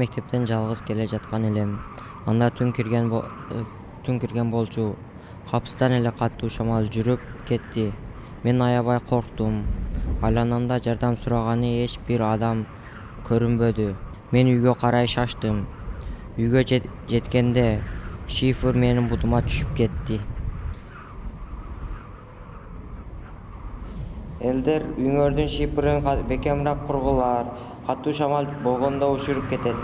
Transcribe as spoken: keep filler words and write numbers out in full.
мектептен жалгыз келе жаткан элем. Анда түн кирген түн кирген болчу. Капыстан эле катуу шамал жүрүп кетти. Мен аябай корктум. Айланамда жардам сураганы эч бир адам көрүнбөдү. Мен үйгө карай шаштым. Үйгө жеткенде шифр менин бутума түшүп кетти. Элдер үйүңөрдүн шифрын бекемирээк кургула, катуу шамал болгондо учуруп кетет.